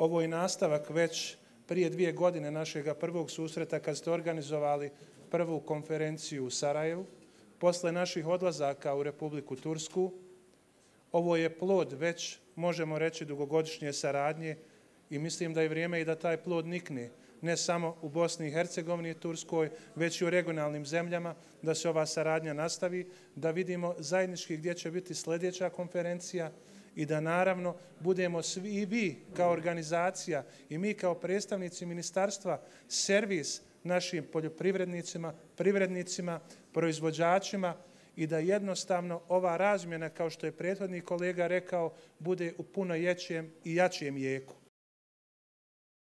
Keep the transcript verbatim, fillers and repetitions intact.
Ovo je nastavak već prije dvije godine našega prvog susreta kad ste organizovali prvu konferenciju u Sarajevu, posle naših odlazaka u Republiku Tursku. Ovo je plod već, možemo reći, dugogodišnje saradnje i mislim da je vrijeme i da taj plod nikne, ne samo u Bosni i Hercegovini i Turskoj, već i u regionalnim zemljama, da se ova saradnja nastavi, da vidimo zajednički gdje će biti sljedeća konferencija i da naravno budemo svi i vi kao organizacija i mi kao predstavnici ministarstva servis našim poljoprivrednicima, privrednicima, proizvođačima i da jednostavno ova razmjena, kao što je prethodni kolega rekao, bude u puno jećem i jačijem jeku.